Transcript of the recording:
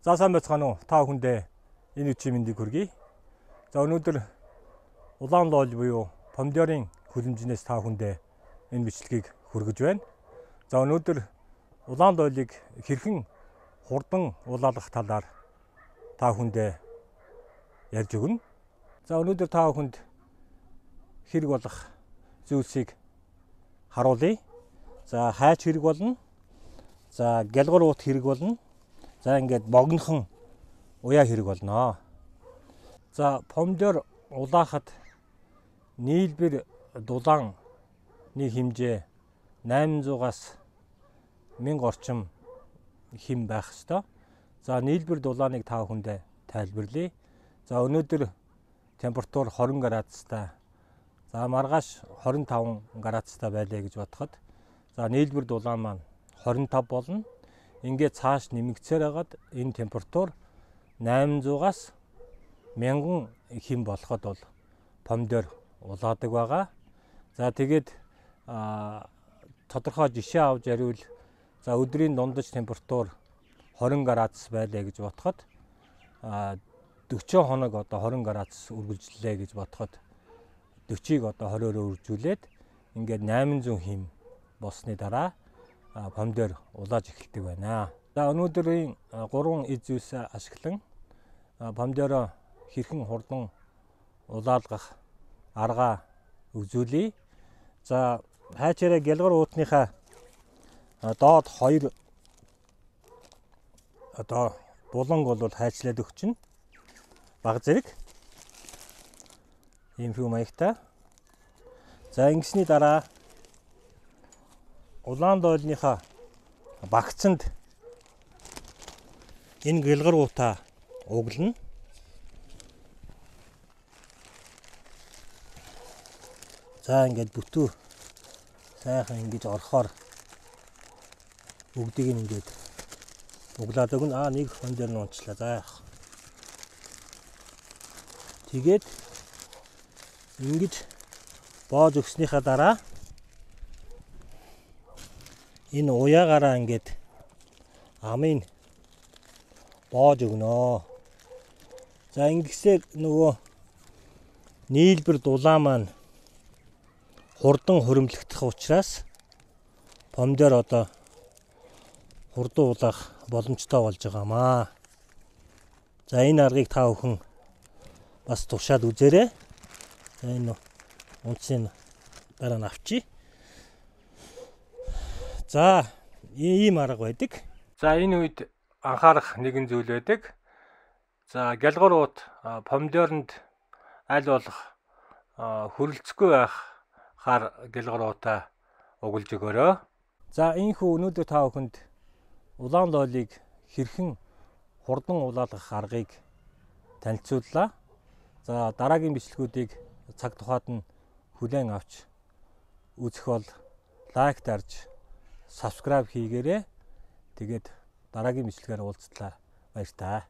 За сайн байцгаана уу? Та бүхэндээ энэ үчи мэндийг хүргэе. За өнөөдөр улаан лоол буюу помидорын хүлэмжнээс та бүхэндээ энэ бичлэгийг хүргэж байна. За өнөөдөр улаан лоолыг хэрхэн хурдан улаалгах талаар та бүхэндээ ярьж өгнө. За өнөөдөр та бүхэнд хэрэг болох зүйлсийг харуулъя. За хайч хэрэг болно. За гялгар уут хэрэг болно. За ингээд богинохон уяа хэрэг болно. За помидор улаахад нийлбэр дулааны хэмжээ 800-аас 1000 орчим хэм байх ёстой. За нийлбэр дулааныг та бүхэндээ тайлбарлая. За өнөөдөр температур 20 градустай. За маргааш 25 градустай байлаа гэж бодоход за нийлбэр дулаан маань 25 болно. Ингээд цааш нэмэгцээр хагаад энэ температур 800-аас 1000 хэм болоход бол помидор улаадаг байгаа. За тэгээд тодорхой жишээ авч яривал за өдрийн дундаж температур 20 градус байлаа гэж бодоход 40 хоног одоо 20 градус үргэлжлэлээ гэж бодоход 40-ыг одоо 20-өөр үржүүлээд ингээд 800 хэм болсны дараа помидор улааж эхэлдэг байна. За өнөөдрийн 3 эд зүйлсээ ашиглан помидороо хэрхэн хурдан улаалгах арга үзүүлье. За хайчаараа гялгар уутныхаа доод 2 одоо буланг бол хайчлаад өгчнө. Баг зэрэг ийм хүү маягтай. За ингэсний дараа улаан лоолныхаа багцанд энэ гялгар уутаа углана. За ингээд бүтүү сайхан ингэж орохоор бүгдийг ингээд углаад өгнө. Нэг хон дээр нь унчлаа. За яах. Тэгээд ингэж боож өгснийхаа дараа энэ уяагаараа ингээд амын боож өгнө. За ингэсээр нөгөө нийлбэр дулаан маань хурдан хуримлагдах учраас помидор одоо хурдан улаах боломжтой болж байгаамаа. За энэ аргыг та бүхэн бас тушаад үзээрэй. За энэ унцын дараа нь авчи. За ийм арга байдаг. За энэ үед анхаарах нэгэн зүйл байдаг. За гялгар уут помидоронд аль болох хөрөлцөхгүй байхаар гялгар уутаа угалж өгөөрэй. За ийхүү өнөөдөр та бүхэнд улаан лоолыг хэрхэн хурдан улаалгах аргыг танилцууллаа. За дараагийн бичлэгүүдийг цаг тухайд нь хүлээн авч үзэх бол лайк дарж subscribe хийгээрэй. Тэгээд дараагийн бичлэгээр уулзтлаа. Баяр таа.